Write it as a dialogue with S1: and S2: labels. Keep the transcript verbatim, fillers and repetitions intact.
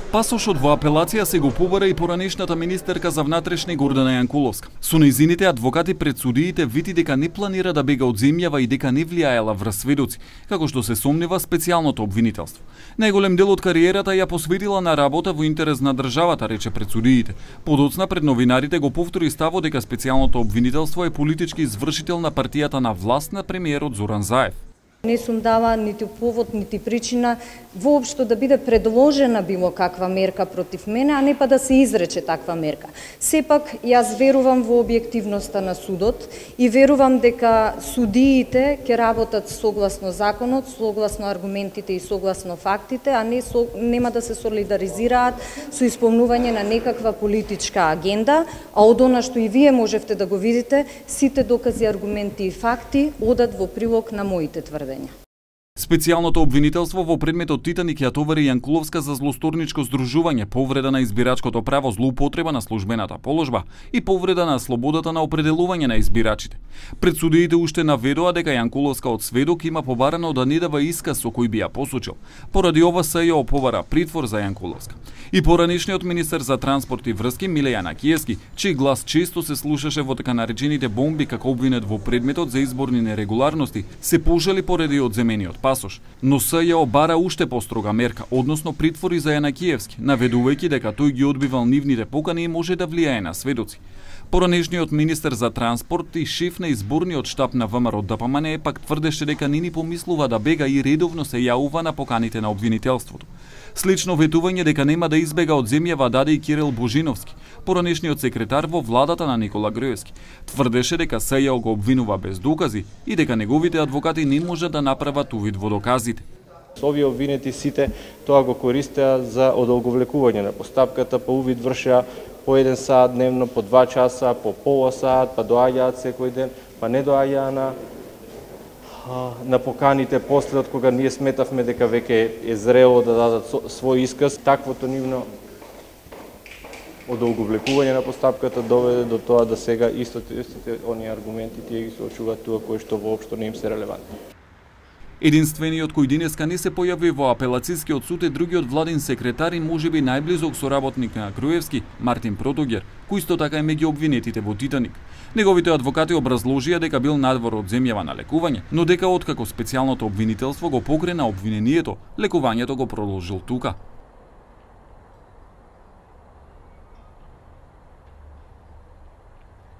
S1: Пасошот во апелација се го побара и поранешната министерка за внатрешни Гордана Јанкуловска. Со нејзините адвокати пред судиите вити дека не планира да бега од земјава и дека не влијаела врз сведоци, како што се сомнева специјалното обвинителство. Најголем дел од кариерата ја посветила на работа во интерес на државата, рече пред судиите. Подоцна пред новинарите го повтори ставот дека специјалното обвинителство е политички извршител на партијата на власт на премиерот Зоран Заев.
S2: Не сум дала нити повод, нити причина воопшто да биде предложена било каква мерка против мене, а не па да се изрече таква мерка. Сепак, јас верувам во објективноста на судот и верувам дека судиите ќе работат согласно законот, согласно аргументите и согласно фактите, а не со, нема да се солидаризираат со исполнување на некаква политичка агенда, а од она што и вие можевте да го видите, сите докази, аргументи и факти одат во прилог на моите тврдења.
S1: Специјалното обвинителство во предметот Титаник ја товари Јанкуловска за злосторничко здружување, повреда на избирачкото право, злоупотреба на службената положба и повреда на слободата на определување на избирачите. Пред судиите уште наведоа дека Јанкуловска од сведок има побарано да не дава исказ со кој би ја посочил. Поради ова СЈО побара притвор за Јанкуловска. И поранешниот министер за транспорт и врски Миле Јанакиевски, чиј глас често се слушаше во така наречените бомби како обвинет во предметот за изборни нерегуларности, се пожали поради одземениот пасош, но СЈО бара уште построга мерка, односно притвори за Јанакиевски, наведувајќи дека тој ги одбивал нивните покани и може да влијае на сведоци. Поранешниот министер за транспорт и шеф на изборниот штаб на ВМРО ДПМН пак тврдеше дека не ни помислува да бега и редовно се јавува на поканите на обвинителството. Слично ветување дека нема да избега од земјава даде и Кирил Божиновски, поранешниот секретар во владата на Никола Груевски. Тврдеше дека СЈО го обвинува без докази и дека неговите адвокати не може да направат увид во доказите.
S3: Овие обвинети сите тоа го користеа за одолговлекување на постапката, по увид вршеа по еден саат дневно, по два часа, по пола саат, па доаѓаат секој ден, па не доаѓаа на на поканите после, од кога ние сметавме дека веќе е зрело да дадат свој исказ. Таквото нивно одолговлекување на постапката доведе до тоа да сега истите, истите оние аргументи тие ги соочуваат тука кои што воопшто не им се релевантни.
S1: Единствениот кој денеска не се појави во апелацискиот суд е другиот владин секретар и можеби најблизок соработник на Груевски, Мартин Протогер, кој исто така е меѓу обвинетите во Титаник. Неговите адвокати образложија дека бил надвор од земјава на лекување, но дека откако специјалното обвинителство го покрена обвинението, лекувањето го продолжил тука.